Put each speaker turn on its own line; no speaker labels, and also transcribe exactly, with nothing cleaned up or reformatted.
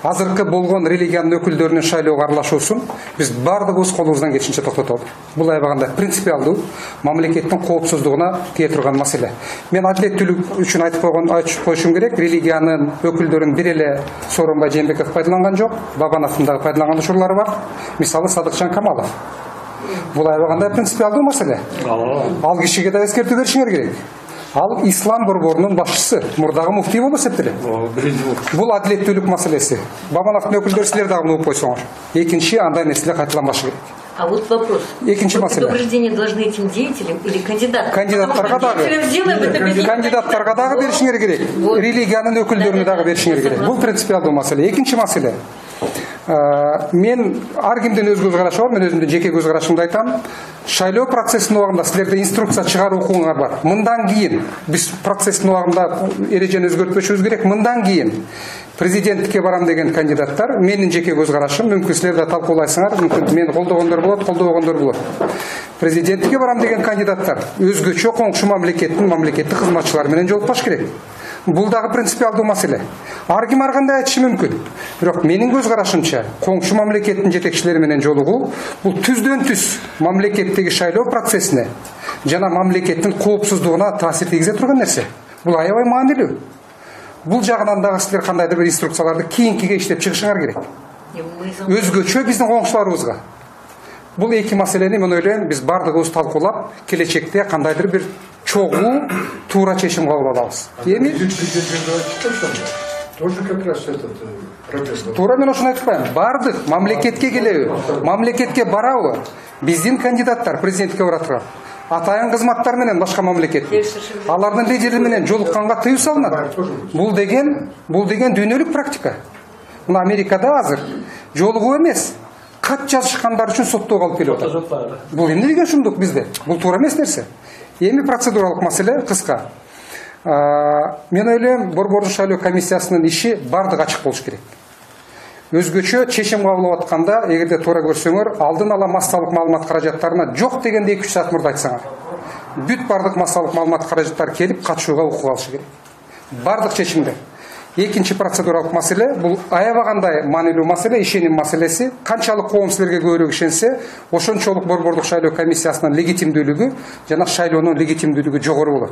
азыркы болгон религиянын өкүлдөрүнүн шайлоого аралашуусун биз бардыгыбыз колубуздан келишинче токтотолу. Бул аябаганда принципиалдуу, мамлекеттин коопсуздугуна тие турган маселе. Мен адилеттүүлүк үчүн айтып койгон айтып коюшум керек. Религиянын өкүлдөрүн бир эле Сооронбай Жээнбеков пайдаланган жок, Бабановдун дагы пайдаланган учурлары бар. Мисалы Садыкчан Камалов. Бул аябаганда принципиалдуу маселе. Ал кишиге да эскертүү беришиңер керек. Ал ислам борборунун башчысы, мурдагы муфтий болуп эсептелет. Бул адилеттүүлүк маселеси. Бабановдун өкүлдөрү силер дагы угуп койсоңор. Экинчи, андай нерселер кайталанбашы керек.
А вот вопрос.
Экинчи маселе.
Предупреждение должны этим деятелям или кандидатам?
Кандидаттарга дагы. Кандидаттарга дагы беришиңер керек. Религиянын өкүлдөрүнө дагы беришиңер керек. Бул принципиалдуу маселе. Экинчи маселе. Мен ар кимдин өз көз карашы бар, мен өзүмдүн жеке көз карашымды айтам. Шайлоо процессинин убагында силерде инструкция чыгаруу укугуңар бар. Мындан кийин биз процесстин убагында эрежени өзгөртпөшүбүз керек. Мындан кийин президенттикке барам деген кандидаттар, менин жеке көз карашым, мүмкүн силер да талкуулайсыңар, мүмкүн мени колдогондор болот, колдобогондор болот. Президенттикке барам деген кандидаттар өзгөчө коңшу мамлекеттин мамлекеттик кызматчылары менен жолукпаш керек. Бул дагы принципиалдуу маселе. Ар ким ар кандай айтышы мүмкүн. Бирок менин көз карашымча, коңшу мамлекеттин жетекчилери менен жолугуу бул түздөн түз мамлекеттеги шайлоо процессине жана мамлекеттин коопсуздугуна таасир тийгизе турган нерсе. Бул аябай маанилүү. Бул жагынан дагы силер кандайдыр бир инструкцияларды кийинкиге иштеп чыгышыңар керек. Өзгөчө биздин коңшуларыбызга. Бул эки маселени мен ойлойм биз бардыгыбыз талкуулап, келечекте кандайдыр бир чогуу туура чечим кабыл алабыз. Эми
тоже как раз этот протест.
Туура мен ошону айтып коем. Бардык мамлекетке келеби, мамлекетке барабы? Биздин кандидаттар президенттикке бара турган. Атайын кызматтар менен башка мамлекет. Алардын лидери менен жолукканга тыюу салынат. Бул деген, бул деген дүйнөлүк практика. Мына Америкада азыр жолугуу эмес, кат жазышкандар үчүн соттоого алып келип атат. Бул эмне деген шумдук бизде? Бул туура эмес нерсе. Эми процедуралык маселе кыска. Мен ойлойм, борбордук шайлоо комиссиясынын иши бардык ачык болуш керек. Өзгөчө чечим кабыл алып атканда, эгерде туура көрсөңөр, алдын ала массалык маалымат каражаттарына жок дегенде эки үч саат мурда айтсаңар. Бүт бардык массалык маалымат каражаттары келип катышууга укук алышы керек. Бардык чечимде. Экинчи процедуралык маселе, бул аябагандай маанилүү маселе, ишеним маселеси. Канчалык коом силерге көбүрөөк ишенсе, ошончолук борбордук шайлоо комиссиясынын легитимдүүлүгү жана шайлоонун легитимдүүлүгү жогору болот.